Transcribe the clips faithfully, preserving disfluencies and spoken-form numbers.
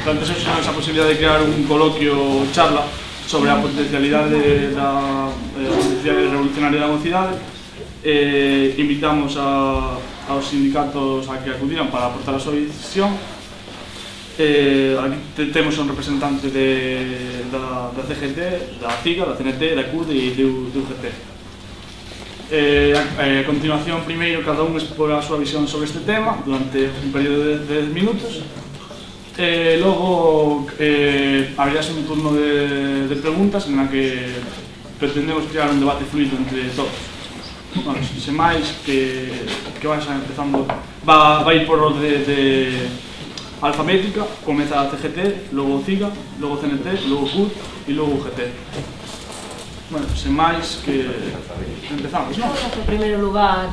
planteou esa posibilidade de crear un coloquio charla sobre a potencialidade da potencialidade revolucionaria da mocidade. Invitamos aos sindicatos a que acudiran para aportar a súa visión. Aquí temos un representante da C G T, da C I G A, da C N T, da C U D e do U G T. A continuación, primeiro, cada un expora a súa visión sobre este tema durante un período de dez minutos. Logo abrirase un turno de preguntas en la que pretendemos crear un debate fluido entre todos. Sen máis, que vais empezando, vai por orde alfabética, comeza a C G T, logo C I G A, logo C N T, logo C U D e logo U G T. Bueno, sen máis, que empezamos, non? En primeiro lugar,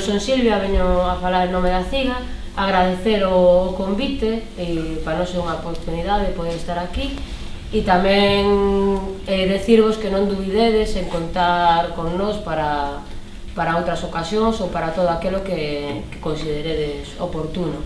son Silvia, veño a falar en nome da C I G A, agradecer o convite, para non ser unha oportunidade de poder estar aquí, e tamén decirvos que non dubidedes en contar con nós para para outras ocasións ou para todo aquilo que consideredes oportuno.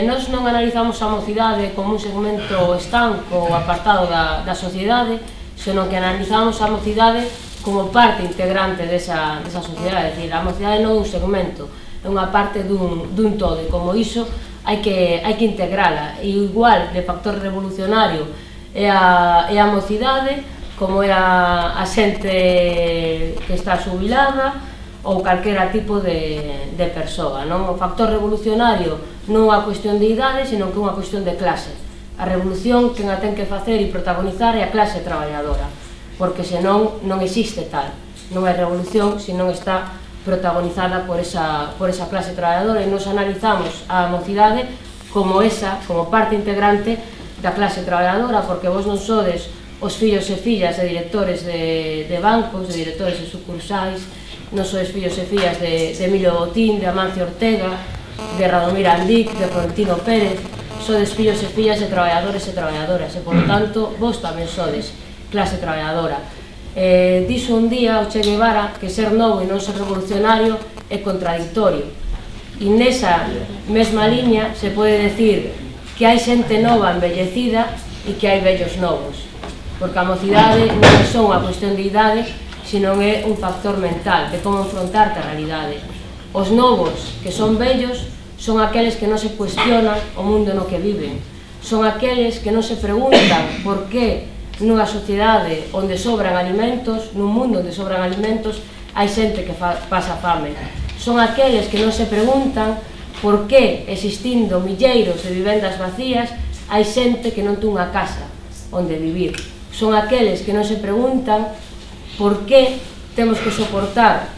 Nós non analizamos a mocidade como un segmento estanco ou apartado da sociedade, senón que analizamos a mocidade como parte integrante desa sociedade. É dicir, a mocidade non é un segmento, é unha parte dun todo, e como iso hai que integrala. E igual de factor revolucionario é a mocidade, como é a xente que está xubilada ou calquera tipo de persoa. O factor revolucionario non é unha cuestión de idade, senón que é unha cuestión de clase. A revolución quen a ten que facer e protagonizar é a clase traballadora, porque senón non existe tal. Non hai revolución se non está protagonizada por esa clase traballadora, e nos analizamos a mocidade como esa, como parte integrante da clase traballadora, porque vos non sodes os fillos e fillas de directores de bancos, de directores de sucursais, non sodes fillos e fillas de Emilio Botín, de Amancio Ortega, de Radomir Andic, de Florentino Pérez. Sodes fillos e fillas de traballadores e traballadoras, e, por tanto, vos tamén sodes clase traballadora. Dixo un día o Che Guevara que ser novo e non ser revolucionario é contradictorio, e nesa mesma liña se pode decir que hai xente nova envellecida e que hai vellos novos, porque a mocidade non é só unha cuestión de idade, senón é un factor mental de como enfrontarte a realidade. Os novos, que son vellos, son aqueles que non se cuestionan o mundo no que viven, son aqueles que non se preguntan por que nunha sociedade onde sobran alimentos, nun mundo onde sobran alimentos, hai xente que pasa fame. Son aqueles que non se preguntan por que, existindo milleiros de vivendas vacías, hai xente que non ten unha casa onde vivir. Son aqueles que non se preguntan por que temos que soportar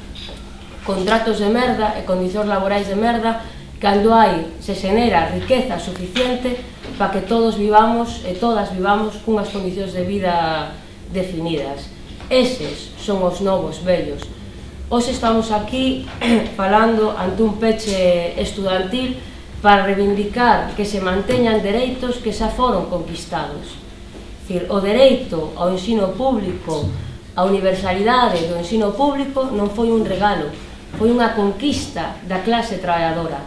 contratos de merda e condicións laborais de merda cando hai, se xenera riqueza suficiente para que todos vivamos e todas vivamos cunhas condicións de vida definidas. Eses son os novos vellos. Hoxe estamos aquí falando ante un peche estudantil para reivindicar que se manteñan dereitos que xa foron conquistados. O dereito ao ensino público, a universalidade do ensino público non foi un regalo, foi unha conquista da clase traballadora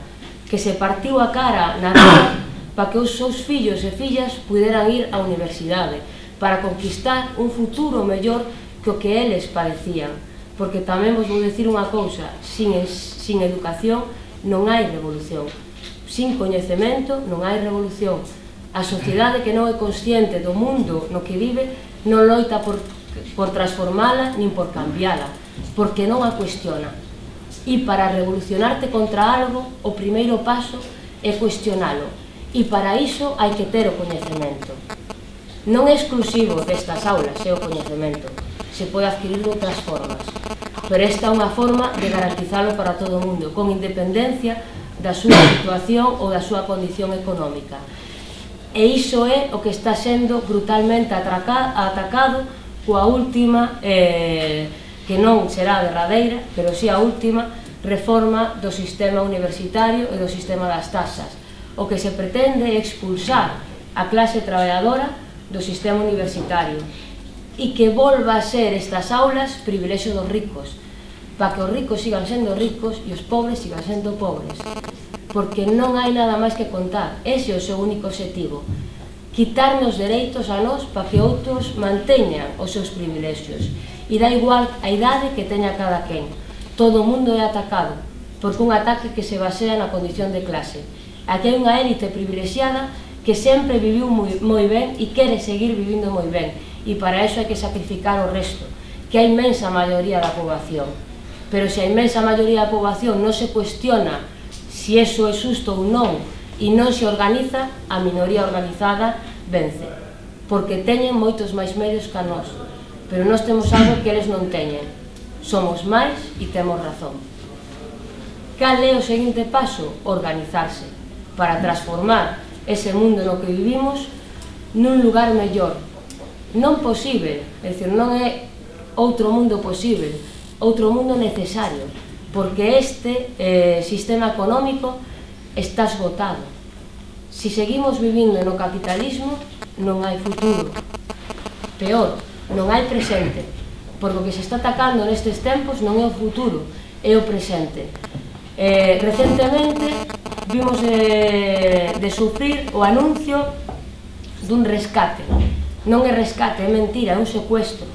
que se partiu a cara na vida para que os seus fillos e fillas puderan ir á universidade, para conquistar un futuro mellor que o que eles padecían. Porque tamén vos vou dicir unha cousa, sin educación non hai revolución, sin coñecemento non hai revolución. A sociedade que non é consciente do mundo no que vive non loita por transformala nin por cambiala, porque non a cuestiona. E para revolucionarte contra algo, o primeiro paso é cuestionalo, e para iso hai que ter o coñecemento. Non é exclusivo destas aulas, é o coñecemento, se pode adquirir de outras formas, pero esta é unha forma de garantizalo para todo o mundo, con independencia da súa situación ou da súa condición económica. E iso é o que está sendo brutalmente atacado coa última, que non será a derradeira, pero si a última reforma do sistema universitario e do sistema das taxas. O que se pretende é expulsar a clase traballadora do sistema universitario e que volva a ser estas aulas privilexio dos ricos, para que os ricos sigan sendo ricos e os pobres sigan sendo pobres, porque non hai nada máis que contar. Ese é o seu único objetivo. quitarnos dereitos a nós para que outros manteñan os seus privilexios. E dá igual a idade que teña cada quen. Todo o mundo é atacado, porque un ataque que se basea na condición de clase. Aquí hai unha élite privilexiada que sempre viviu moi, moi ben e quere seguir vivindo moi ben. E para iso hai que sacrificar o resto, que a inmensa maioría da poboación. Pero se a inmensa maioría da poboación non se cuestiona se iso é xusto ou non e non se organiza, a minoría organizada vence. Porque teñen moitos máis medios que a nós. Pero nós temos algo que eles non teñen. Somos máis e temos razón. Cal é o seguinte paso? Organizarse para transformar ese mundo no que vivimos nun lugar mellor. Non posible, é dicir, non é outro mundo posible, outro mundo necesario, porque este eh, sistema económico está esgotado. Si seguimos vivindo no capitalismo, non hai futuro. Peor, non hai presente, porque o que se está atacando nestes tempos non é o futuro, é o presente. Eh, recentemente vimos de, de sufrir o anuncio dun rescate. Non é rescate, é mentira, é un secuestro.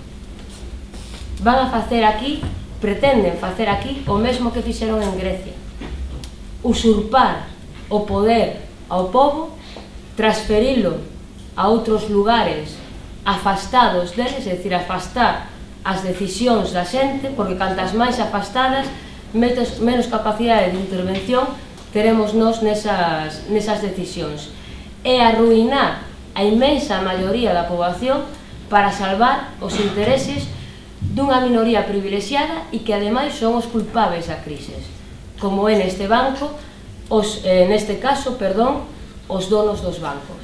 Van a facer aquí, pretenden facer aquí o mesmo que fixeron en Grecia. Usurpar o poder ao povo, transferilo a outros lugares afastados deles, é dicir, afastar as decisións da xente, porque cantas máis afastadas, menos capacidade de intervención teremos nós nesas, nesas decisións. É arruinar a inmensa maioría da poboación para salvar os intereses dunha minoría privilexiada e que ademais son os culpables da crisis, como é neste banco, os, eh, neste caso, perdón, os donos dos bancos.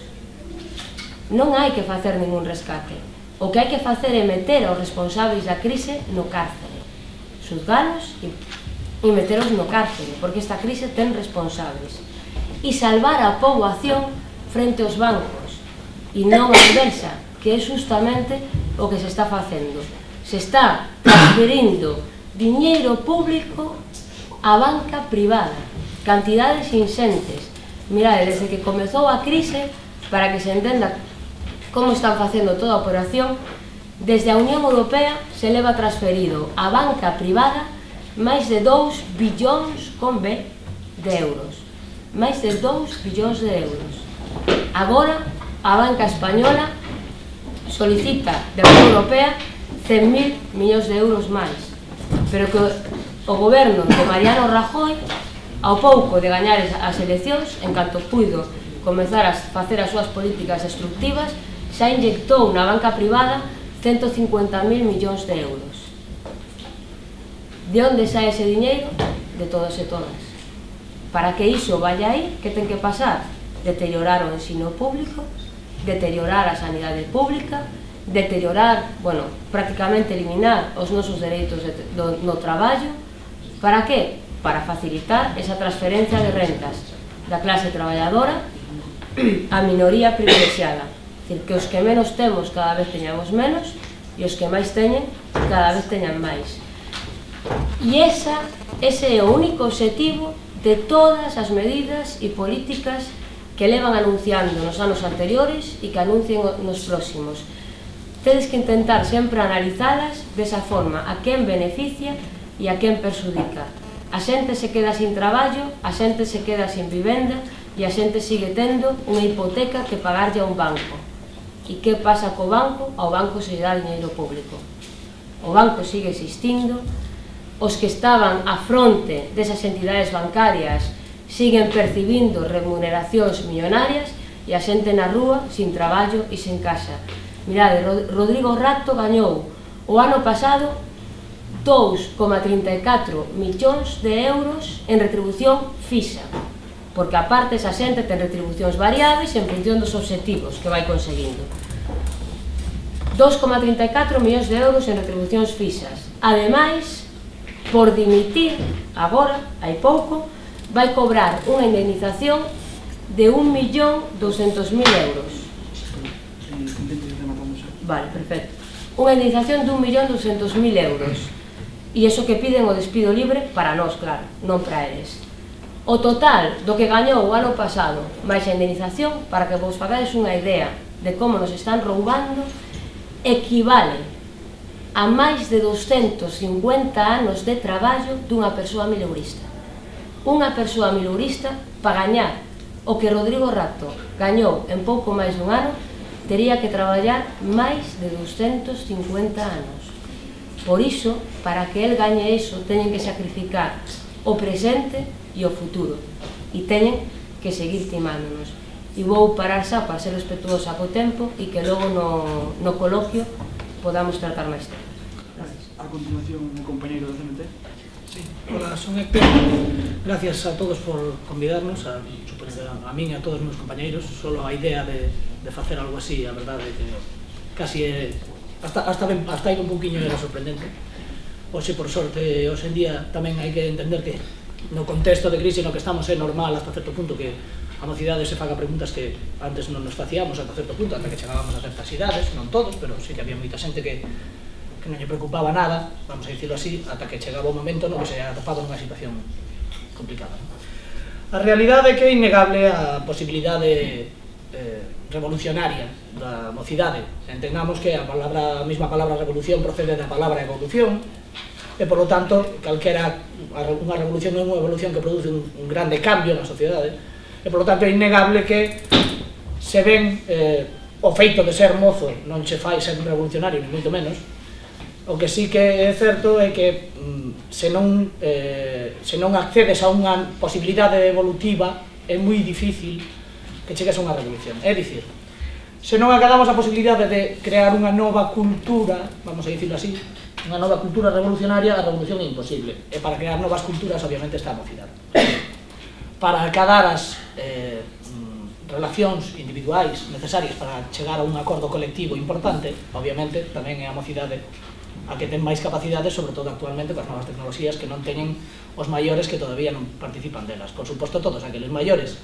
Non hai que facer ningún rescate. O que hai que facer é meter aos responsables da crise no cárcere, xuzgalos e, e meteros no cárcere, porque esta crise ten responsables, e salvar a poboación frente aos bancos, e non a inversa, que é justamente o que se está facendo. Se está transferindo diñeiro público á banca privada, cantidades insentes. Mirade, desde que comezou a crise, para que se entenda como están facendo toda a operación, desde a Unión Europea se leva transferido á banca privada máis de dous billóns con B de euros. Máis de dous billóns de euros. Agora, a banca española solicita da Unión Europea cen mil millóns de euros máis, pero que o goberno de Mariano Rajoy, ao pouco de gañar as eleccións, en canto puido comezar a facer as súas políticas destructivas, xa inyectou na banca privada ciento cincuenta mil millóns de euros. De onde sae ese diñeiro? De todos e todas. Para que iso vaya aí, que ten que pasar? Deteriorar o ensino público, deteriorar a sanidade pública, deteriorar, bueno, prácticamente eliminar os nosos dereitos de, do, no traballo. Para que? Para facilitar esa transferencia de rentas da clase traballadora a minoría privilexiada. É dicir, que os que menos temos cada vez teñamos menos e os que máis teñen cada vez teñan máis. E esa, ese é o único obxectivo de todas as medidas e políticas que levan anunciando nos anos anteriores e que anuncien nos próximos. Tedes que intentar sempre analizalas desa forma, a quen beneficia e a quen perxudica. A xente se queda sin traballo, a xente se queda sin vivenda e a xente sigue tendo unha hipoteca que pagarlle a un banco. E que pasa co banco? Ao banco se lle dá diñeiro público. O banco sigue existindo, os que estaban á fronte desas entidades bancarias siguen percibindo remuneracións millonarias e a xente na rúa sin traballo e sin casa. Mirade, Rodrigo Rato gañou o ano pasado dous coma trinta e catro millóns de euros en retribución fixa, porque aparte esa xente ten retribucións variables en función dos obxectivos que vai conseguindo. dous coma trinta e catro millóns de euros en retribucións fixas. Ademais, por dimitir, agora, hai pouco, vai cobrar unha indemnización de un millón doscientos mil euros. Vale, perfecto. Unha indemnización de un millón doscientos mil euros. E iso que piden o despido libre para nós, claro, non para eles. O total do que gañou o ano pasado máis a indemnización, para que vos fagades unha idea de como nos están roubando equivale a máis de doscentos cincuenta anos de traballo dunha persoa mileurista. Unha persoa mileurista, para gañar o que Rodrigo Rato gañou en pouco máis dun ano, tería que traballar máis de doscentos cincuenta anos. Por iso, para que el gañe iso, teñen que sacrificar o presente e o futuro. E teñen que seguir timándonos. E vou parar xa para ser respetuosa co tempo e que logo no, no coloquio podamos tratar máis tempo. A continuación, o compañeiro do C N T. Sí. Hola, son Héctor. Gracias a todos por convidarnos, a, a mí e a todos os meus compañeiros. Solo a idea de, de facer algo así, a verdade é que casi é, hasta, hasta, ben, hasta aí un pouquiño era sorprendente. Hoxe, por sorte, hoxe en día tamén hai que entender que no contexto de crise no que estamos é normal hasta certo punto que a mocidade se faga preguntas que antes non nos facíamos ata certo punto, ata que chegábamos a certas idades, non todos, pero sí que había moita xente que que non lle preocupaba nada, vamos a dicirlo así, ata que chegaba o momento no que se atopaba nunha situación complicada. A realidade é que é innegable a posibilidade eh, revolucionaria da mocidade. Entendamos que a, palabra, a mesma palabra revolución procede da palabra evolución, e, por lo tanto, calquera unha revolución é unha evolución que produce un, un grande cambio na sociedade, e, por lo tanto, é innegable que se ven eh, o feito de ser mozo non che fai ser un revolucionario, ni moito menos. O que sí que é certo é que mm, se, non, eh, se non accedes a unha posibilidade evolutiva é moi difícil que chegues a unha revolución. É dicir, se non acadamos a posibilidade de crear unha nova cultura, vamos a dicirlo así, unha nova cultura revolucionaria, a revolución é imposible. E para crear novas culturas, obviamente, está a mocidade. Para acadar as eh, relacións individuais necesarias para chegar a un acordo colectivo importante, obviamente, tamén é a mocidade a que ten máis capacidades, sobre todo actualmente coas novas tecnoloxías que non teñen os maiores que todavía non participan delas. Por suposto, todos aqueles maiores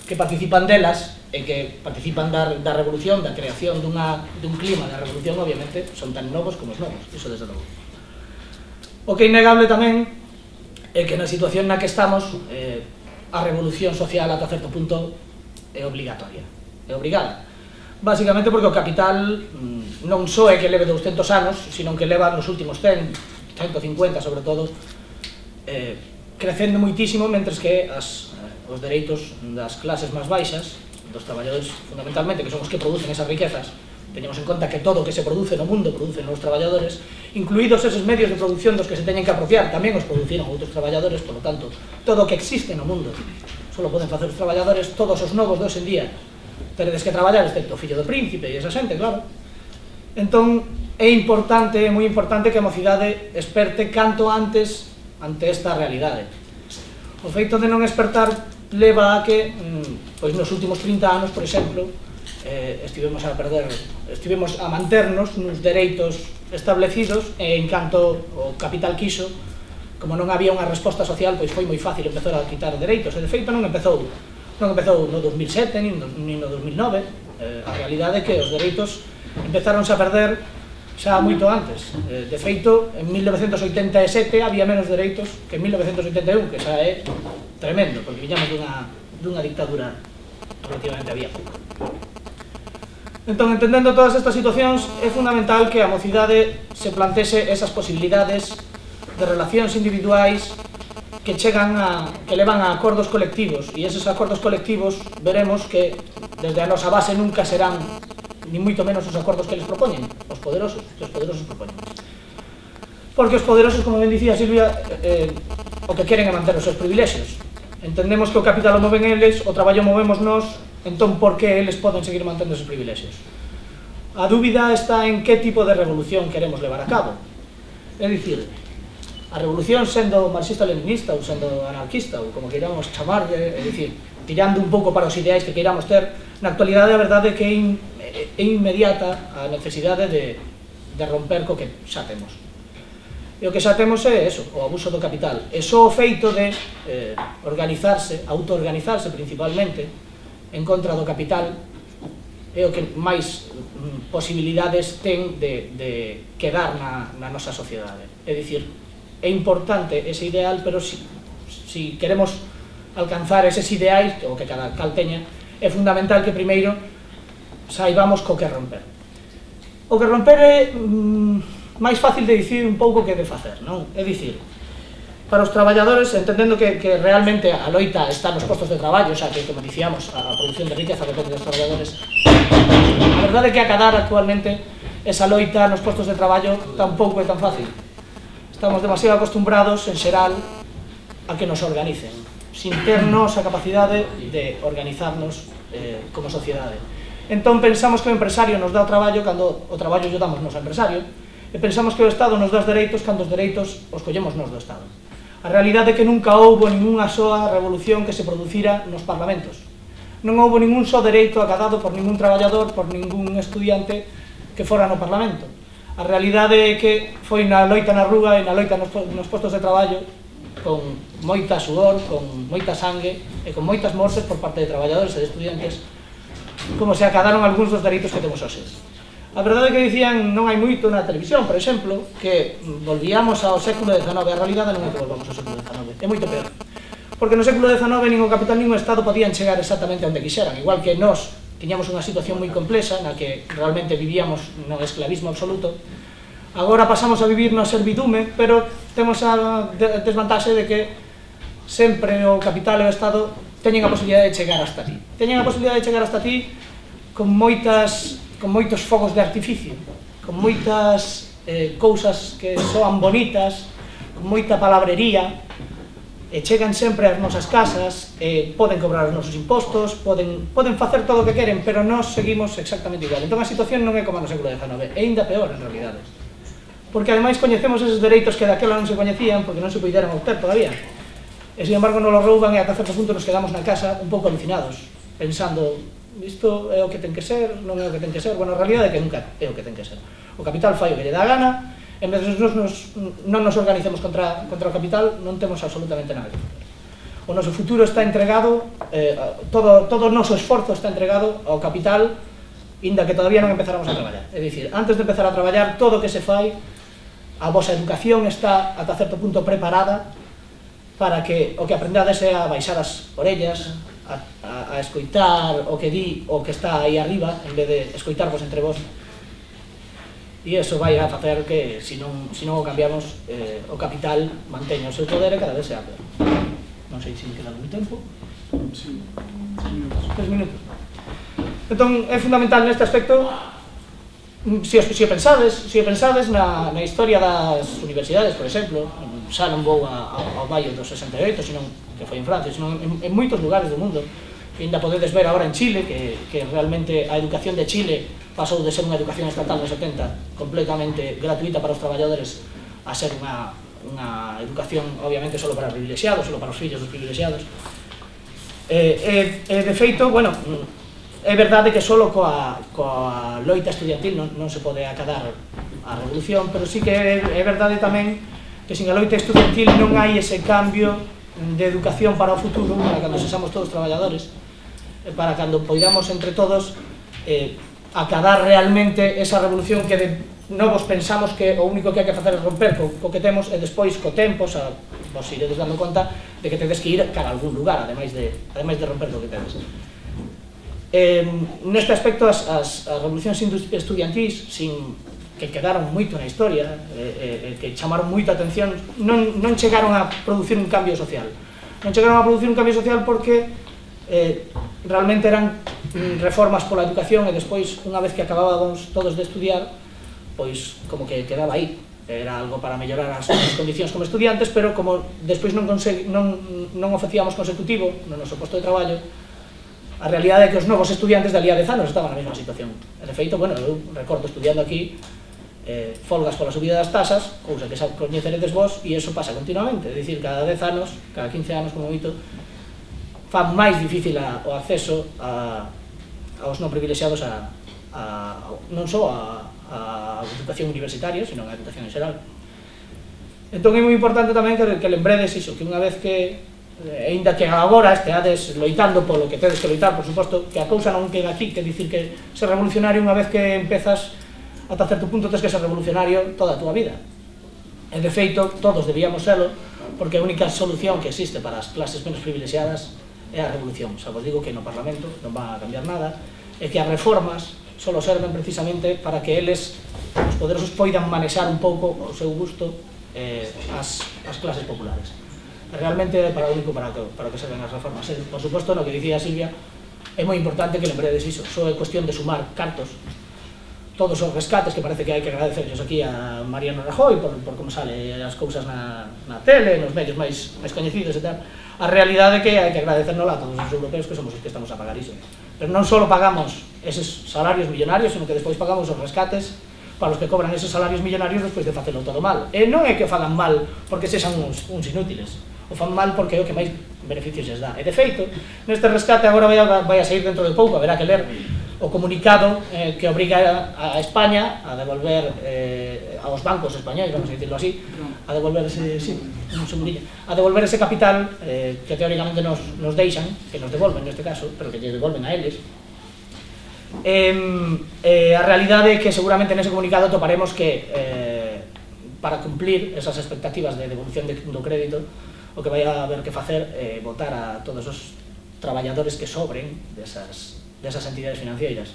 que participan delas e que participan da, da revolución, da creación dunha, dun clima da revolución, obviamente, son tan novos como os novos, iso desde logo. O que é innegable tamén é que na situación na que estamos, eh, a revolución social ata certo punto é obligatoria, é obrigada. Básicamente porque o capital mmm, non só é que leve douscentos anos, sino que leva nos últimos cen, ciento cincuenta sobre todo, eh, crecendo muitísimo, mentres que as, eh, os dereitos das clases máis baixas, dos traballadores fundamentalmente, que son os que producen esas riquezas, teñamos en conta que todo o que se produce no mundo producen os traballadores, incluídos esos medios de producción dos que se teñen que apropiar, tamén os produciron outros traballadores, por lo tanto, todo o que existe no mundo só poden facer os traballadores, todos os novos de hoxe en día teredes que traballar, excepto o fillo do príncipe e esa xente, claro. Entón, é importante, é moi importante que a mocidade esperte canto antes ante esta realidade. O feito de non espertar leva a que, pois nos últimos trinta anos, por exemplo, eh, estivemos a perder, estivemos a manternos nos dereitos establecidos e en canto o capital quiso, como non había unha resposta social, pois foi moi fácil empezar a quitar dereitos, e de feito non empezou non empezou no dos mil sete, nin no dos mil nove, eh, a realidade é que os dereitos empezaronse a perder xa moito antes. Eh, de feito, en mil novecentos oitenta e sete había menos dereitos que en mil novecentos oitenta e un, que xa é tremendo, porque viñamos dunha, dunha dictadura relativamente abierta. Entón, entendendo todas estas situacións, é fundamental que a mocidade se plantese esas posibilidades de relacións individuais que chegan a, que levan a acordos colectivos, e eses acordos colectivos veremos que desde a nosa base nunca serán ni moito menos os acordos que les propoñen os poderosos, que os poderosos propoñen, porque os poderosos, como ben dicía Silvia, eh, o que queren é manter os seus privilexios. Entendemos que o capital o moven eles, o traballo movemos nós, entón por que eles poden seguir mantendo esos privilexios? A dúbida está en que tipo de revolución queremos levar a cabo. É dicir, a revolución sendo marxista-leninista ou sendo anarquista ou como queiramos chamar, é dicir, tirando un pouco para os ideais que queiramos ter, na actualidade a verdade é que é, in, é inmediata a necesidade de, de romper co que xa temos. E o que xa temos é eso, o abuso do capital. E só o feito de eh, organizarse, autoorganizarse principalmente, en contra do capital, é o que máis mm, posibilidades ten de, de quedar na, na nosa sociedade. É dicir, é importante ese ideal, pero si, si queremos alcanzar eses ideais, o que cada cal teña, é fundamental que primeiro saibamos co que romper. O que romper é mm, máis fácil de dicir un pouco que de facer, non? É dicir, para os traballadores, entendendo que, que realmente a loita está nos postos de traballo, xa que, como dicíamos, a produción de riqueza depende dos traballadores, a verdade é que acadar actualmente esa loita nos postos de traballo tampouco é tan fácil. Estamos demasiado acostumbrados, en xeral, a que nos organicen, sin ternos a capacidade de organizarnos eh, como sociedade. Entón pensamos que o empresario nos dá o traballo cando o traballo lle damos nos ao empresario, e pensamos que o Estado nos dá os dereitos cando os dereitos os collemos nos do Estado. A realidade é que nunca houbo ninguna soa revolución que se producira nos parlamentos. Non houbo ningún só dereito acadado por ningún traballador, por ningún estudiante que fora no Parlamento. A realidade é que foi na loita na rúa e na loita nos postos de traballo, con moita sudor, con moita sangue e con moitas mortes por parte de traballadores e de estudiantes, como se acadaron algúns dos dereitos que temos hoxe. A verdade é que dicían non hai moito na televisión, por exemplo, que volvíamos ao século dezanove. A realidade non é que volvamos ao século dezanove, é moito peor. Porque no século dezanove nin o capital nin o Estado podían chegar exactamente onde quixeran, igual que nós tiñamos unha situación moi complexa na que realmente vivíamos no esclavismo absoluto. Agora pasamos a vivir no servidume, pero temos a desvantaxe de que sempre o capital e o Estado teñen a posibilidade de chegar hasta ti. Teñen a posibilidade de chegar hasta ti con moitas, con moitos fogos de artificio, con moitas eh, cousas que soan bonitas, con moita palabrería, e chegan sempre ás nosas casas, e poden cobrar os nosos impostos, poden, poden facer todo o que queren, pero nós seguimos exactamente igual. Entón a situación non é como no século dezanove, é ainda peor en realidade. Porque ademais coñecemos eses dereitos que daquela non se coñecían, porque non se puderan obter todavía. E, sin embargo, nos lo rouban e ata certo punto nos quedamos na casa un pouco alucinados, pensando, isto é o que ten que ser, non é o que ten que ser. Bueno, a realidade é que nunca é o que ten que ser. O capital fai o que lle dá a gana, e mentre nos, nos, non nos organicemos contra, contra o capital, non temos absolutamente nada que facer. O noso futuro está entregado, eh, todo, todo o noso esforzo está entregado ao capital, inda que todavía non empezáramos a traballar. É dicir, antes de empezar a traballar, todo o que se fai, a vosa educación está ata certo punto preparada para que o que aprendades é a baixar as orellas, a, a, a escoitar o que di o que está aí arriba, en vez de escoitarvos entre vos. E iso vai a facer que, se non, se non o cambiamos, eh, o capital manteña o seu poder e cada vez sea peor. Non sei se me queda algún tempo. Sí, tres minutos. Tres minutos. Entón, é fundamental neste aspecto, se o, se o pensades, se o pensades na, na historia das universidades, por exemplo, xa non vou a, a, ao Maio do sesenta e oito, senón que foi en Francia, senón en, en moitos lugares do mundo, que ainda podedes ver agora en Chile, que, que realmente a educación de Chile pasou de ser unha educación estatal nos setenta completamente gratuita para os traballadores a ser unha, unha educación obviamente solo para privilexiados, solo para os fillos dos privilexiados. E, e, e de feito, bueno, é verdade que solo coa, coa loita estudiantil non, non se pode acadar a revolución, pero sí que é, é verdade tamén que sin a loita estudiantil non hai ese cambio de educación para o futuro, para cando sexamos todos traballadores, para cando poidamos entre todos eh, acadar realmente esa revolución que de novos pensamos que o único que hai que facer é romper co, co que temos, e despois co tempo xa vos iredes dando conta de que tedes que ir cara a algún lugar, ademais de, ademais de romper co que tedes. Eh, neste aspecto, as, as, as revolucións estudiantís, sin que quedaron moito na historia, eh, eh, que chamaron moita atención, non, non chegaron a producir un cambio social. Non chegaron a producir un cambio social porque eh, realmente eran reformas pola educación, e despois, unha vez que acabábamos todos de estudiar, pois como que quedaba aí. Era algo para mellorar as nossas condicións como estudiantes, pero como despois non, non, non o facíamos consecutivo no noso posto de traballo, a realidade é que os novos estudiantes de ali a dez anos estaban na mesma situación. E de feito, bueno, eu recordo estudiando aquí eh, folgas pola subida das tasas, cousa que xa coñeceredes vos, e iso pasa continuamente. É dicir, cada dez anos, cada quince anos como moito, fan máis difícil a, o acceso a, aos non privilexiados a, a, non só a, a educación universitaria, sino a educación en xeral. Entón é moi importante tamén que, que lembredes iso, que unha vez que, aínda que agora esteades loitando polo que tedes que loitar, por suposto, que a cousa non queda aquí, que dicir que ser revolucionario unha vez que empezas ata certo punto tens que ser revolucionario toda a túa vida. E de feito, todos debíamos serlo, porque a única solución que existe para as clases menos privilexiadas é a revolución. Xa vos digo que no Parlamento non va a cambiar nada, e que as reformas só serven precisamente para que eles, os poderosos, poidan manexar un pouco o seu gusto eh, as, as clases populares. Realmente é para o único para que, para que serven as reformas. E, por suposto, no que dicía Silvia, é moi importante que lembredes iso. Só é cuestión de sumar cartos, todos os rescates, que parece que hai que agradecerlos aquí a Mariano Rajoy por, por como sale as cousas na, na tele, nos medios máis, máis coñecidos e tal. A realidade é que hai que agradecernos a todos os europeos que somos os que estamos a pagar iso. Pero non só pagamos eses salarios millonarios, sino que despois pagamos os rescates para os que cobran eses salarios millonarios despois de facelo todo mal. E non é que o fagan mal porque sexan uns, uns inútiles, o fan mal porque é o que máis beneficios les dá. E de feito, neste rescate agora vai a, vai a sair dentro de pouco, haberá que ler o comunicado eh, que obriga a, a España a devolver eh, aos bancos españoles, vamos a dicirlo así, a devolver ese, sí, un segundillo, a devolver ese capital eh, que teóricamente nos, nos deixan, que nos devolven neste caso, pero que lle devolven a eles. Eh, eh, a realidade é que seguramente nese comunicado toparemos que eh, para cumplir esas expectativas de devolución de, do crédito, o que vai a haber que facer é eh, votar a todos os traballadores que sobren desas, desas entidades financeiras,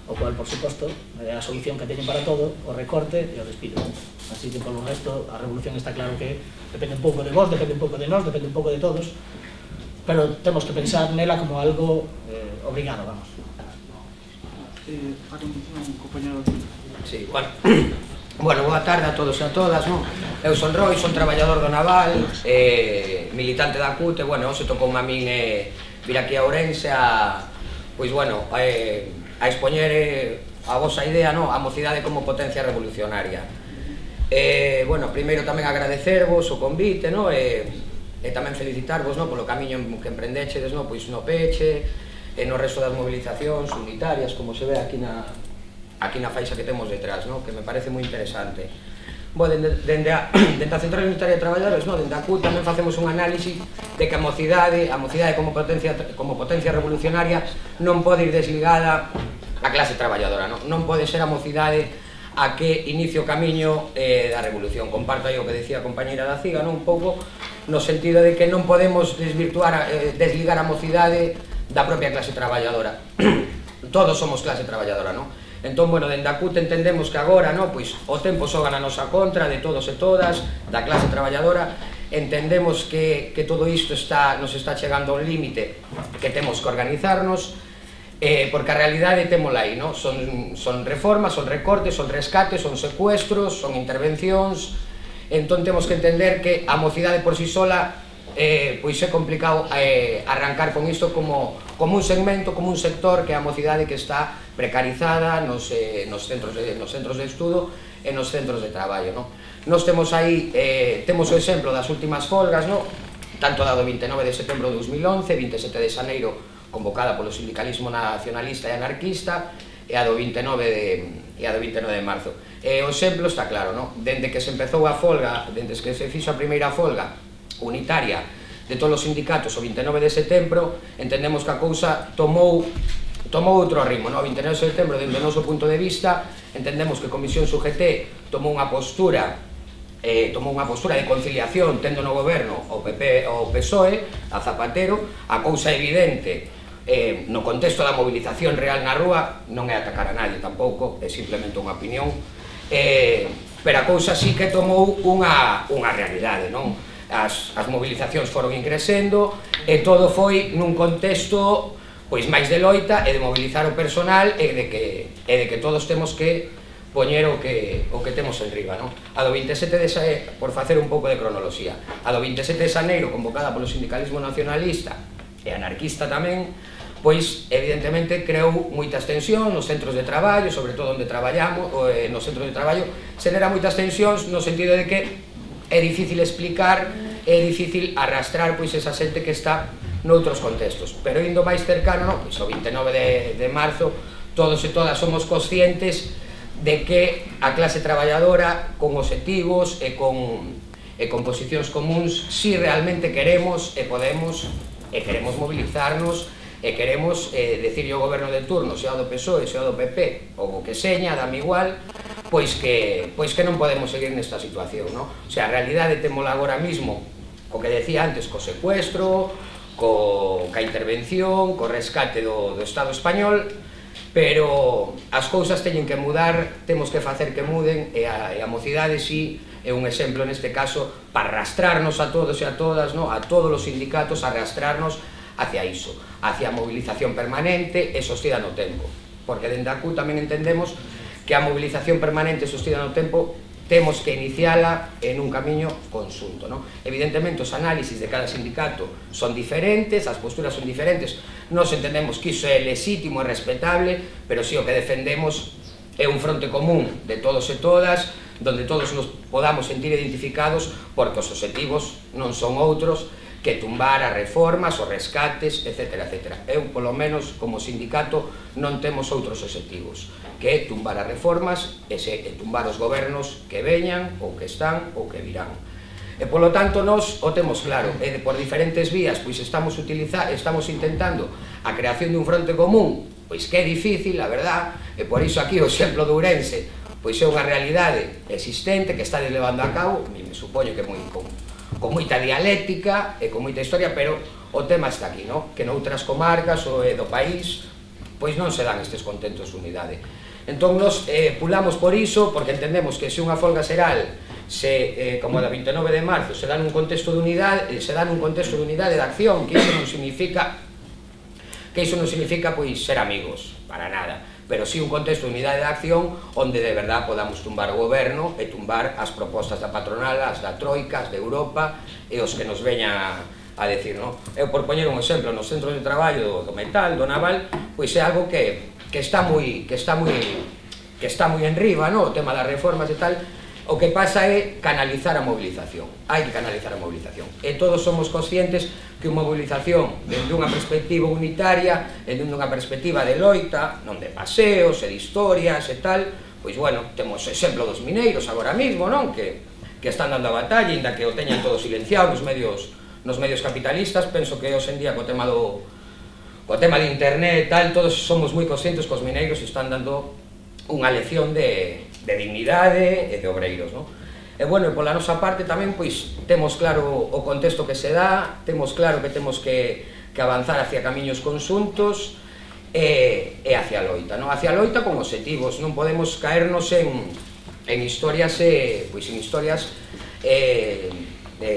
o cual, por suposto, é a solución que teñen para todo, o recorte e o despido. Así que, polo resto, a revolución está claro que depende un pouco de vos, depende un pouco de nós, depende un pouco de todos, pero temos que pensar nela como algo eh, obrigado, vamos. Eh, a continuación, compañero. Sí, bueno. Bueno, boa tarde a todos e a todas, non? Eu son Roy, son traballador do Naval, eh, militante da C U T, e, bueno, hoxe tocou a min eh, vir aquí a Ourense a, pois, bueno, eh, a expoñer eh, a vosa idea, non? A mocidade como potencia revolucionaria. Eh, bueno, primeiro tamén agradecervos o convite, non? E, e tamén felicitarvos, non? Polo camiño que emprendechedes, non? Pois no Peche, e no resto das movilizacións unitarias, como se ve aquí na... aquí na faixa que temos detrás, no? Que me parece moi interesante. Bo, dende, dende, a, dende a Central Unitaria de Traballadores, no? Dende a C U T tamén facemos un análisis de que a mocidade, a mocidade como potencia, como potencia revolucionaria non pode ir desligada a clase traballadora, no? Non pode ser a mocidade a que inicie o camiño eh, da revolución. Comparto aí o que decía a compañeira da Ciga, no? Un pouco no sentido de que non podemos desvirtuar, eh, desligar a mocidade da propia clase traballadora. Todos somos clase traballadora, non? Entón, bueno, dende a C U T entendemos que agora, no, pois, o tempo xoga na nosa contra, de todos e todas, da clase traballadora. Entendemos que, que todo isto está, nos está chegando a un límite, que temos que organizarnos, eh, porque a realidade temola aí, no? Son, son reformas, son recortes, son rescates, son secuestros, son intervencións. Entón temos que entender que a mocidade por si sola eh, pois é complicado eh, arrancar con isto como, como un segmento, como un sector que é a mocidade que está precarizada nos, eh, nos, centros de, nos centros de estudo e nos centros de traballo, no? Nos temos aí, eh, temos o exemplo das últimas folgas, no? Tanto da do vinte e nove de setembro de dos mil once, vinte e sete de xaneiro convocada polo sindicalismo nacionalista e anarquista, e a do vinte e nove de, e a do vinte e nove de marzo. E o exemplo está claro, no? Dende que se empezou a folga, dende que se fixo a primeira folga unitaria de todos os sindicatos o vinte e nove de setembro, entendemos que a cousa tomou tomou outro ritmo, no? vinte e nove de setembro, dentro do noso punto de vista, entendemos que a Comisión S U G T tomou unha postura eh, tomou unha postura de conciliación tendo no goberno o P P o P S O E, a Zapatero. A cousa evidente eh, no contexto da movilización real na rúa non é atacar a nadie tampouco, é simplemente unha opinión, eh, pero a cousa sí que tomou unha, unha realidade, non? As, as movilizacións foron increcendo e todo foi nun contexto pois máis de loita e de mobilizar o personal e de que, e de que todos temos que poñer o que, o que temos en riba, non? A do vinte e sete de xaneiro, por facer un pouco de cronoloxía, a do vinte e sete de xaneiro, convocada polo sindicalismo nacionalista e anarquista tamén, pois evidentemente creou moitas tensións nos centros de traballo, sobre todo onde traballamos, eh, nos centros de traballo, xenera moitas tensións no sentido de que é difícil explicar, é difícil arrastrar pois esa xente que está noutros contextos, pero indo máis cercano, no, pois o vinte e nove de, de marzo, todos e todas somos conscientes de que a clase traballadora con obxectivos e con, e con posicións comuns si realmente queremos e podemos e queremos mobilizarnos e queremos eh, decirle ao goberno de turno, sea do P S O E, sea do P P ou o que seña, dame igual, pois que, pois que non podemos seguir nesta situación, no? O sea, a realidade temola agora mismo, o que decía antes, co secuestro, co, ca intervención, co rescate do, do Estado español, pero as cousas teñen que mudar, temos que facer que muden, e a, e a mocidade si é un exemplo neste caso para arrastrarnos a todos e a todas, no? A todos os sindicatos, arrastrarnos hacia iso, hacia a movilización permanente e sostida no tempo, porque dende a C U tamén entendemos que a movilización permanente e sostida no tempo temos que iniciala en un camiño conxunto, no? Evidentemente os análisis de cada sindicato son diferentes, as posturas son diferentes, nos entendemos que iso é lexítimo e respetable, pero si o que defendemos é un fronte común de todos e todas, donde todos nos podamos sentir identificados, porque os obxectivos non son outros que tumbar as reformas, os rescates, etcétera, etcétera. Eu, polo menos, como sindicato, non temos outros obxectivos, que é tumbar as reformas e, se, e tumbar os gobernos que veñan, ou que están, ou que virán. E, polo tanto, nós o temos claro, e de, por diferentes vías, pois estamos, utiliza, estamos intentando a creación de un fronte común, pois que é difícil, a verdad, e por iso aquí o exemplo de Ourense, pois é unha realidade existente que está levando a cabo, me supoño que moi con, con moita dialéctica e con moita historia, pero o tema está aquí, no? Que noutras comarcas ou do país pois non se dan estes contentos de unidade. Entón, nos eh, pulamos por iso, porque entendemos que se unha folga xeral, se, eh, como a da vinte e nove de marzo, se dan un contexto de unidade, se dan un contexto de unidade de acción, que iso non significa que iso non significa pois ser amigos, para nada, pero si un contexto de unidade de acción onde de verdad podamos tumbar o goberno e tumbar as propostas da patronal, as da troika, as de Europa e os que nos veña a decir, no? Eu, por poñer un exemplo, nos centros de traballo do metal, do naval, pois é algo que, que está moi que está moi que está moi enriba, no? O tema das reformas e tal. O que pasa é canalizar a movilización. Hai que canalizar a movilización. E todos somos conscientes que unha movilización dende unha perspectiva unitaria, dende unha perspectiva de loita, non de paseos e de historias e tal, pois, bueno, temos exemplo dos mineiros agora mismo, non? Que, que están dando a batalla, inda que o teñan todo silenciado nos medios, nos medios capitalistas. Penso que hoxe en día co tema do co tema de internet e tal, todos somos moi conscientes que os mineiros están dando unha lección de, de dignidade e de obreiros, non? E, bueno, e pola nosa parte tamén, pois, temos claro o contexto que se dá, temos claro que temos que, que avanzar hacia camiños conxuntos e, e hacia a loita, non? Hacia a loita con obxectivos, non podemos caernos en, en historias, eh, pois, en historias eh, de,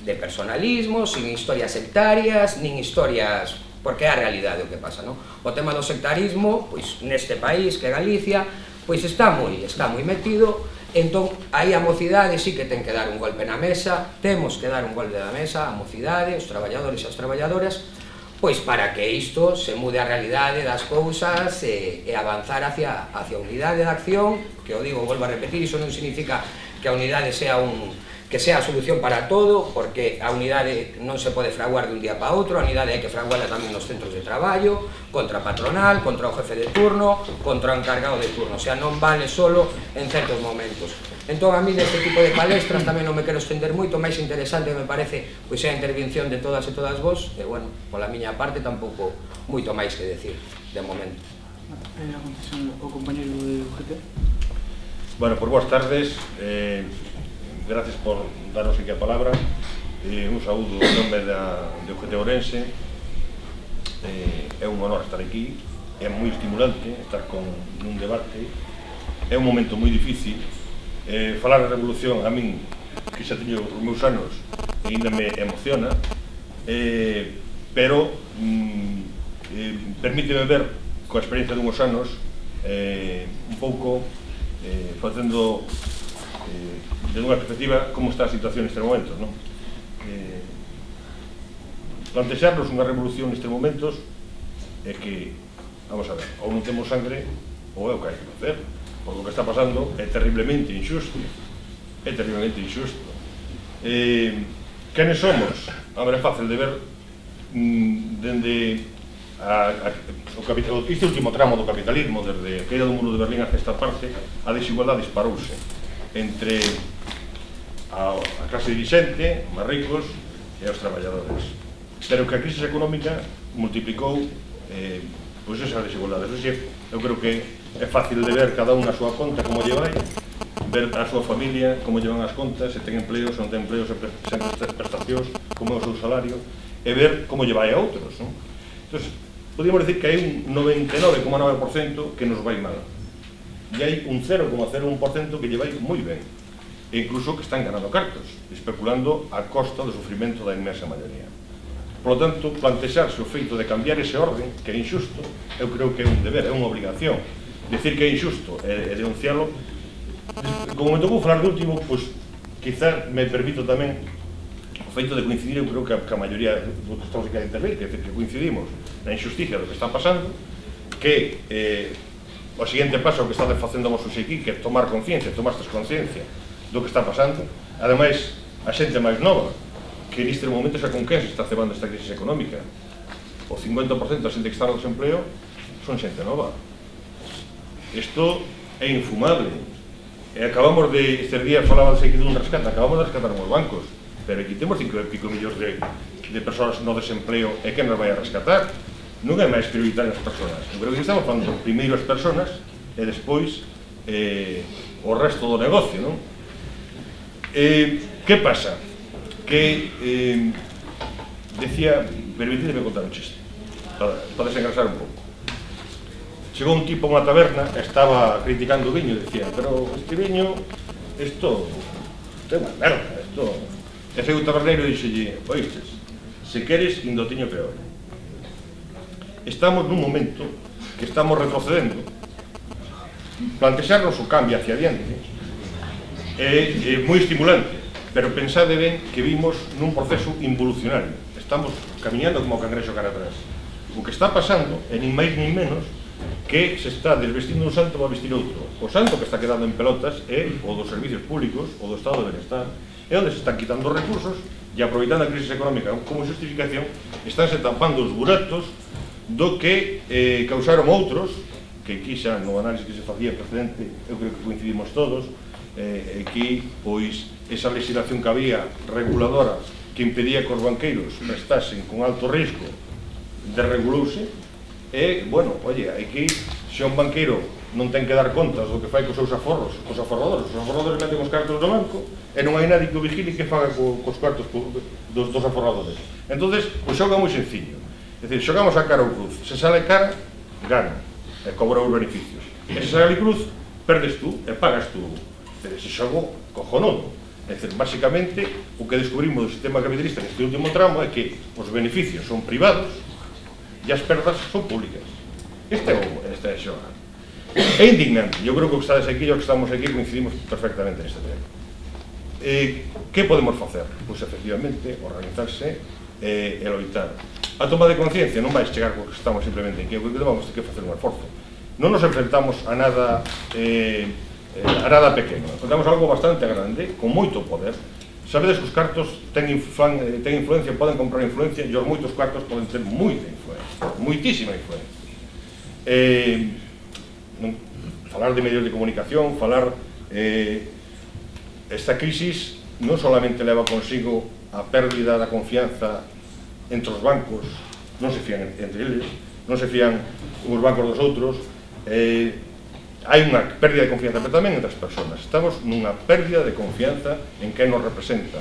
de personalismo, sin historias sectarias, nin historias... porque é a realidade o que pasa, non? O tema do sectarismo, pois, neste país, que é Galicia, pois está moi, está moi metido, entón, aí a mocidade sí que ten que dar un golpe na mesa, temos que dar un golpe na mesa, a mocidade, os traballadores e as traballadoras, pois para que isto se mude a realidade das cousas e, e avanzar hacia, hacia a unidade de acción, que o digo, volvo a repetir, iso non significa que a unidade sea un... que sea a solución para todo, porque a unidade non se pode fraguar de un día para outro, a unidade hai que fraguarla tamén nos centros de traballo, contra a patronal, contra o jefe de turno, contra o encargado de turno, o sea, non vale solo en certos momentos. Entón, a mí neste tipo de palestras tamén non me quero estender moito, máis interesante me parece pois é a intervención de todas e todas vos, e, bueno, pola miña parte tampouco moito máis que decir, de momento. Eh, a concesión o compañeiro de U G T. Bueno, por boas tardes, eh, gracias por darnos aquí a palabra, eh, un saúdo en nome da, de U G T Ourense. Eh, é un honor estar aquí, é moi estimulante estar con un debate, é un momento moi difícil. Eh, falar de revolución a min, que xa teño os meus anos, ainda me emociona, eh, pero mm, eh, permíteme ver coa experiencia dunhos anos eh, un pouco eh, facendo eh, desde unha perspectiva como está a situación nestes momentos, non? Eh, plantexarnos unha revolución nestes momentos é que, vamos a ver, ou non temos sangre ou é o que hai que facer, porque o que está pasando é terriblemente injusto, é terriblemente injusto. Eh, quenes somos? A ver, é fácil de ver mm, dende a, a, o capital, este último tramo do capitalismo, desde a queda do muro de Berlín hacia esta parte, a desigualdade disparouse entre a, a clase dirigente, os máis ricos e os traballadores, pero que a crise económica multiplicou eh, pois esas desigualdades. O sea, eu creo que é fácil de ver cada unha a súa conta como lle vai, ver a súa familia como llevan as contas, se ten empleos, se non ten empleos, se ten prestacións, como é o seu salario, e ver como lle vai a outros, non? Entón, podríamos decir que hai un noventa e nove coma nove por cento que nos vai mal. E hai un cero coma cero un por cento que lle vai moi ben. E incluso que están ganando cartos, especulando a costa do sufrimento da inmensa maioría. Por lo tanto, plantexarse o feito de cambiar ese orden, que é injusto, eu creo que é un deber, é unha obligación. Decir que é injusto e denunciarlo. Como me tocou falar de último, pois, quizá me permito tamén o feito de coincidir, eu creo que a, que a maioría dos que estamos aquí a intervir, que, que coincidimos na injusticia do que está pasando, que eh, o seguinte paso que está facendo a Mossos aquí, que é tomar conciencia, tomastes conciencia do que está pasando. Ademais, a xente máis nova, que neste momento xa con quen se está cebando esta crisis económica. O cincuenta por cento da xente que está no desempleo son xente nova. Isto é infumable. E acabamos de, este día falaba aquí dun rescate, acabamos de rescatar os bancos, pero aquí temos cinco e pico millóns de, de persoas no desempleo, e quen nos vai a rescatar? Non é máis prioritario as persoas. Eu creo que estamos falando primeiro as persoas e despois eh, o resto do negocio, non? Eh, que pasa? Que eh, decía, permitidme contar un chiste, podes engrasar un pouco. Chegou un tipo a unha taberna, estaba criticando o viño, e dicía, pero este viño, isto, isto é unha merda, isto... E foi o taberneiro e dixelle, oístes, se queres, indo tiño peor. Estamos nun momento que estamos retrocedendo, plantexarnos o cambio hacia adiante, é, é moi estimulante, pero pensade ben que vimos nun proceso involucionario. Estamos camiñando como o cangrexo cara atrás. O que está pasando é nin máis nin menos que se está desvestindo un santo para vestir outro. O santo que está quedando en pelotas é o dos servicios públicos, o do estado de bienestar, é onde se están quitando recursos e aproveitando a crisis económica como justificación, estánse tampando os buratos do que eh, causaron outros, que aquí xa no análisis que se facía precedente, eu creo que coincidimos todos, eh, aquí, pois, esa legislación que había reguladora que impedía que os banqueiros prestasen con alto risco desregulouse. E, bueno, oye, aquí, se un banqueiro non ten que dar contas do que fai cos seus aforros, cos aforradores, os aforradores meten os cartos do banco e non hai nadie que o vigile que faga co, cos cartos dos, dos aforradores. Entonces, o xogo é moi sencillo. É dicir, xogamos a cara ou cruz. Se sale cara, gana e cobra os beneficios. E se sale cruz, perdes tú e pagas tú. É dicir, ese xogo cojonudo. É dicir, basicamente, o que descubrimos do sistema capitalista neste último tramo é que os beneficios son privados e as perdas son públicas. Este é o este é xogar. É indignante. Eu creo que os que estades aquí e os que estamos aquí coincidimos perfectamente neste tema. Eh, que podemos facer? Pois, efectivamente, organizarse e, e loitar. A toma de conciencia non vai chegar porque estamos simplemente aquí. Eu creo que vamos ter que facer un esforzo. Non nos enfrentamos a nada eh, a nada pequeno. Enfrentamos algo bastante grande, con moito poder. Sabedes que os cartos ten, inflan, ten influencia, poden comprar influencia, e os moitos cartos poden ter moita influencia, moitísima influencia. Eh, non, falar de medios de comunicación, falar... Eh, esta crisis non solamente leva consigo a pérdida da confianza entre os bancos, non se fían entre eles, non se fían os bancos dos outros, eh, hai unha pérdida de confianza, pero tamén entre as persoas. Estamos nunha pérdida de confianza en quen nos representa,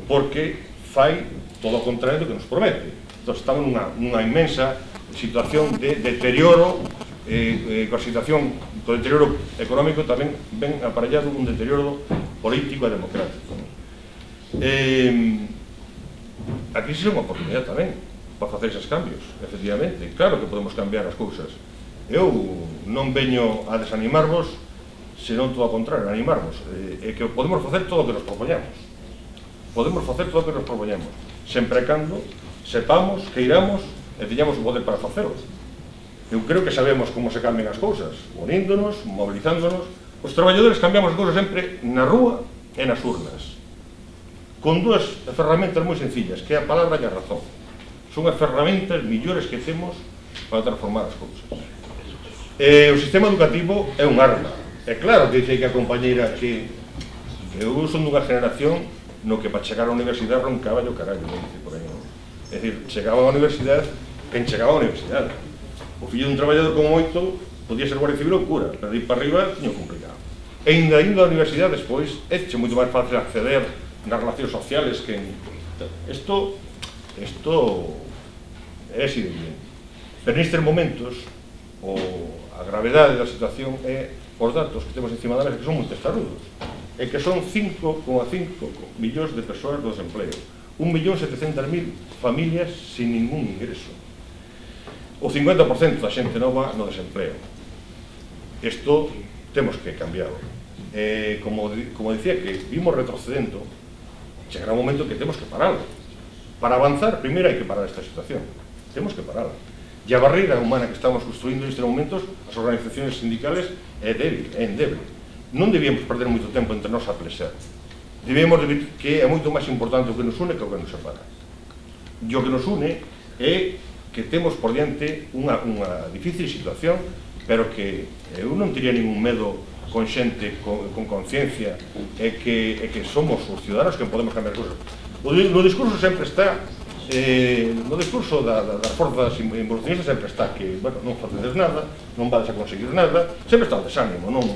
porque fai todo o contrario do que nos promete. Entón, estamos nunha, nunha inmensa situación de deterioro, eh, eh, coa situación do deterioro económico tamén ven aparellado un deterioro político e democrático. Eh, a crisis é unha oportunidade tamén para facer esos cambios, efectivamente. Claro que podemos cambiar as cousas. Eu non veño a desanimarvos, senón todo ao contrario, a animarvos. É que podemos facer todo o que nos propoñamos. Podemos facer todo o que nos propoñamos, sempre e cando sepamos, queiramos e teñamos o poder para facelo. Eu creo que sabemos como se cambian as cousas, uníndonos, movilizándonos. Os traballadores cambiamos as cousas sempre na rúa e nas urnas, con dúas ferramentas moi sencillas, que é a palabra e a razón. Son as ferramentas millores que temos para transformar as cousas. Eh, o sistema educativo é un arma. É claro que dice que a compañeira que eu son dunha generación no que para chegar á universidade roncaba yo carallo, non dice por aí, non? É dicir, chegaba á universidade quen chegaba á universidade. O fillo dun traballador como moito podía ser guardia civil ou cura, pero de ir para arriba tiño complicado. E ainda indo á universidade despois é moito máis fácil acceder nas relacións sociales que... Isto, isto é así de bien. Pero nestes momentos, o a gravedade da situación é os datos que temos encima da mesa, que son moi testarudos, e que son cinco coma cinco millóns de persoas do desempleo, un millón setecentas mil familias sin ningún ingreso, o cincuenta por cento da xente nova no desempleo. Isto temos que cambiarlo. Eh, como, como dicía, que vimos retrocedendo, chegará un momento que temos que pararlo. Para avanzar, primeiro hai que parar esta situación. Temos que pararla. E a barreira humana que estamos construindo nestes momentos, as organizacións sindicales, é débil, é endeble. Non debíamos perder moito tempo entre nós a plexar. Debemos de ver que é moito máis importante o que nos une que o que nos separa. E o que nos une é que temos por diante unha, unha difícil situación, pero que eu non teria ningún medo con xente, con, con conciencia, é que, é que somos os ciudadanos que podemos cambiar cousas. No discurso sempre está, eh, no discurso da, da, das forzas involucionistas sempre está que, bueno, non facedes nada, non vades a conseguir nada, sempre está o desánimo, non?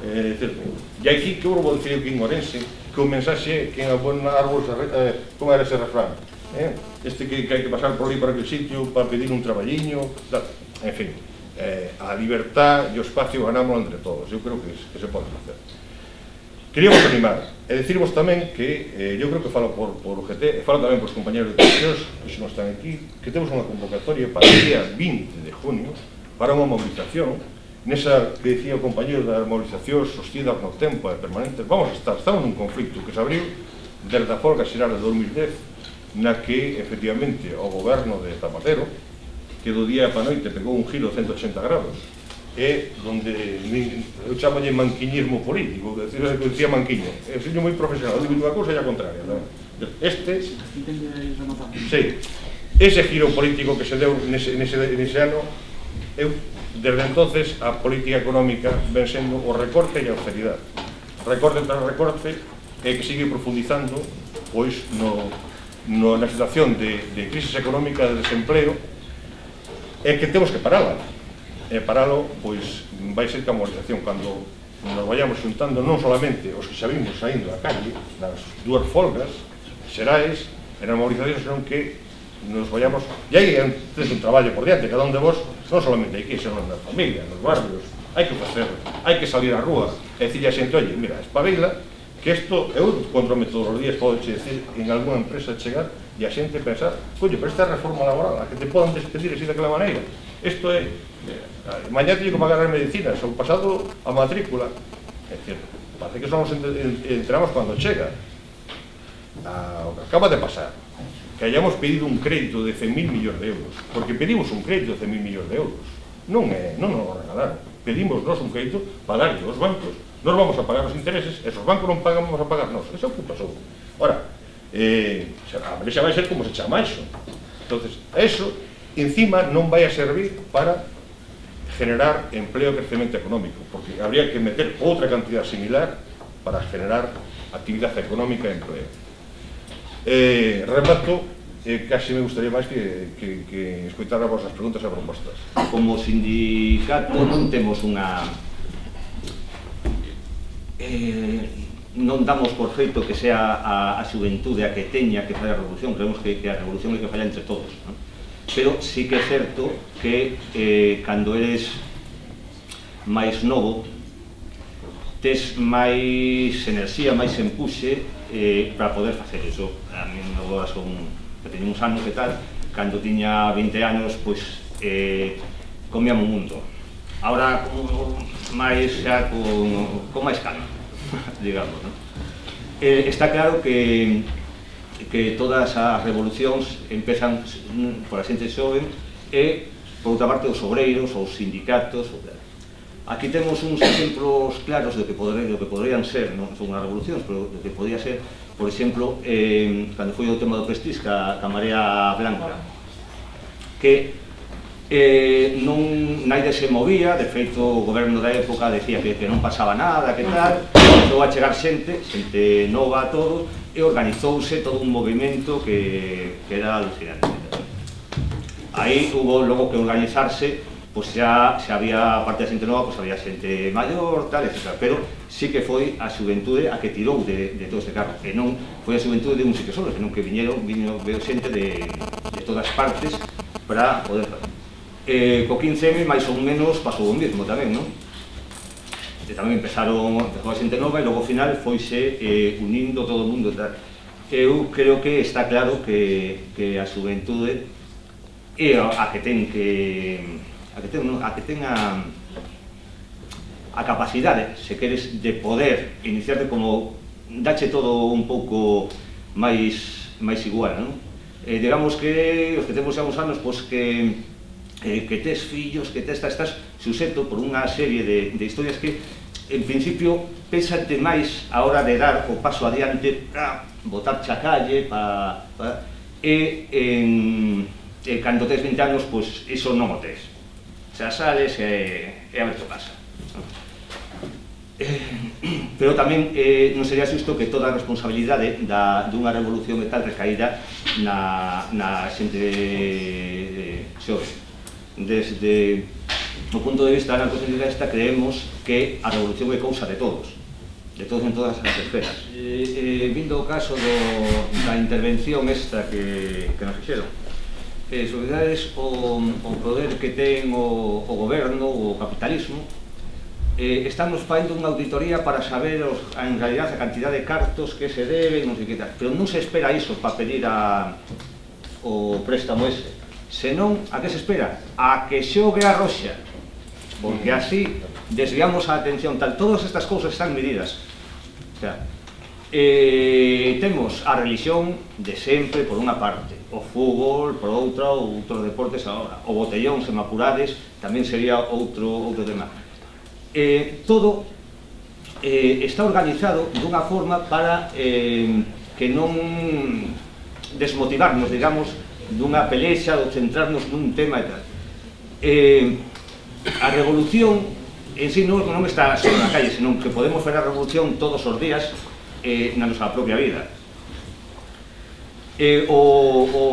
Eh, e aquí, que eu vou dicir aquí en Orense, que o mensaxe que en a buena árbol, eh, como era ese refrán, eh? este que, que hai que pasar por ali para aquel sitio para pedir un traballiño, tal. En fin, eh, a libertad e o espacio ganámoslo entre todos, eu creo que, que se pode facer. Queríamos animar e decirvos tamén que, eh, eu creo que falo por, por U G T, e falo tamén por os compañeros de comisións que non están aquí, que temos unha convocatoria para o día vinte de junio para unha movilización, nesa que decía o compañero das movilizacións sostidas no tempo e permanentes. Vamos a estar, estamos nun conflicto que se abriu desde a folga xeral de dos mil dez, na que, efectivamente, o goberno de Zapatero, que do día para a noite pegou un giro de ciento ochenta grados, é donde eu chamalle manquiñismo político, que decía Manquiño, é un señor moi profesional, digo unha cousa e a contraria. Este, sí, ese giro político que se deu nese, nese, nese ano, eu, desde entonces, a política económica ven sendo o recorte e a austeridade. Recorte tras recorte, e que sigue profundizando, pois, no, no, na situación de, de crisis económica, de desempleo, é que temos que parala. E paralo, pois, vai ser que a movilización, cando nos vayamos xuntando non solamente os que xa vimos saindo a calle, nas dúas folgas xerais, e nas movilizacións, senón que nos vayamos, e aí é un traballo por diante, cada un de vos, non solamente aquí, senón nas familias, nos barrios, hai que facer, hai que salir á rúa, e dicirle a xente, oye, mira, espabila, que isto, eu controme todos os días, podo che decir, en alguna empresa chegar, e a xente pensar, coño, pero esta reforma laboral, a que te podan despedir así daquela maneira, isto é, mañá teño que pagar as medicinas, o pasado a matrícula, é dicir, parece que só nos enteramos cando chega, o que acaba de pasar, que hayamos pedido un crédito de cen mil millóns de euros, porque pedimos un crédito de cen mil millóns de euros, non é, non nos regalaron, pedimos nós un crédito para darlle aos bancos, nós vamos a pagar os intereses, esos bancos non pagan, vamos a pagar nós, esa é o que pasou. Ora, eh, a xa vai ser como se chama iso, entonces, eso, encima, non vai a servir para generar empleo e crecemento económico, porque habría que meter outra cantidad similar para generar actividade económica e empleo. Eh, remato, eh, casi me gustaría máis que, que, que escoitar as vosas preguntas e propostas. Como sindicato non temos unha... Eh, non damos por feito que sea a, a xuventude a que teña que fazer a revolución, creemos que, que a revolución é que falla entre todos, non? Pero sí que é certo que eh, cando eres máis novo tes máis enerxía, máis empuxe eh, para poder facer iso. A mí agora son, que teño uns anos e tal, cando tiña vinte anos, pois eh, comíamos un mundo. Ahora máis xa con, con máis calma, digamos, non? Eh, está claro que que todas as revolucións empezan por a xente xoven e, por outra parte, os obreiros, os sindicatos. Aquí temos uns exemplos claros do que, podre, do que podrían ser, non son unhas revolucións, pero do que podría ser, por exemplo, eh, cando foi o tema do Prestige, ca, ca Marea Blanca, que eh, non naide se movía, de feito o goberno da época decía que, que non pasaba nada, que tal, comezou a chegar xente, xente nova a todo, e organizouse todo un movimento que, que era alucinante. Aí hubo logo que organizarse, pois xa, xa había, aparte da xente nova, pois había xente maior, tal, etcétera. Pero sí que foi a xuventude a que tirou de, de todo este carro, e non foi a xuventude de un sitio solo, senón que viñeron, viñeron veo xente de, de todas partes para poder fazer. Eh, co quince eme, máis ou menos, pasou o mesmo tamén, non? E tamén empezaron, empezou a xente nova e logo ao final foise eh, unindo todo o mundo. Tal. Eu creo que está claro que, que a xuventude é a, a que ten que a que ten, a que ten a, a capacidade, se queres, de poder iniciarte como dache todo un pouco máis máis igual, non? Eh, digamos que os que temos xa uns anos, pois que Eh, que tes fillos, que tes, estás suxeto por unha serie de, de historias que en principio pésate máis a hora de dar o paso adiante para botar cha calle pa, pa, e, en, e cando tes vinte anos, pois iso non o tes, xa sales e, e a ver que pasa, non? Eh, pero tamén eh, non sería xusto que toda a responsabilidade da, dunha revolución e tal recaída na, na xente xove. Desde o punto de vista anarcosindicalista creemos que a revolución é cousa de todos, de todos en todas as esferas. Eh, eh, vindo o caso do, da intervención esta que, que nos fixeron, eh, sobre verdades, o, o poder que ten o, o goberno, o capitalismo, eh, estamos facendo unha auditoría para saber os, en realidad a cantidad de cartos que se deben, non sei que tal, pero non se espera iso para pedir a, o préstamo ese. Senón, a que se espera? A que xogue a roxa, porque así desviamos a atención tal. Todas estas cousas están medidas. O sea, eh, temos a religión de sempre por unha parte, o fútbol por outra, ou outros deportes agora, o botellón, se me apurades, tamén sería outro, outro tema. Eh, todo eh, está organizado dunha forma para eh, que non desmotivarnos, digamos, dunha pelexa ou centrarnos nun tema e tal. Eh, a revolución en si non, non está só na calle, senón que podemos fazer a revolución todos os días eh, na nosa propia vida. Eh, o, o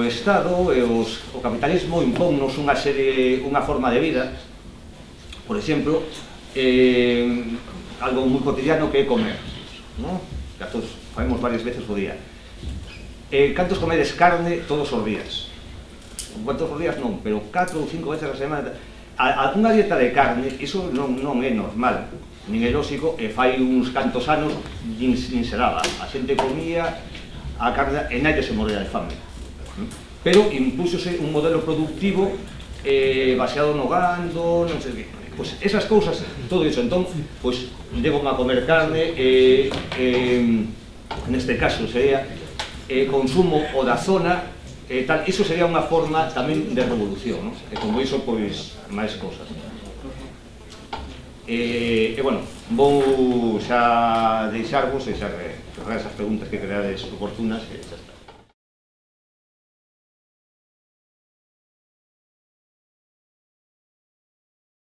Estado e os, o capitalismo impónnos unha serie, unha forma de vida, por exemplo, eh, algo moi cotidiano que é comer, non? Que a todos facemos varias veces o día. Eh, cantos comedes carne todos os días? Cuantos os días non, pero catro ou cinco veces a semana. A, a unha dieta de carne, iso non, non é normal, nin é lóxico, e fai uns cantos anos nin, nin se daba. A xente comía a carne e naide se morría de fame. Pero impúxose un modelo productivo eh, baseado no gando, non sei que. Pois esas cousas, todo iso, entón, pois debo a comer carne, e, eh, neste caso sería eh, consumo o da zona, eh, tal, iso sería unha forma tamén de revolución, non? E como iso, pois, máis cousas. E, e bueno, vou xa deixarvos e xa eh, esas preguntas que creades oportunas e xa está.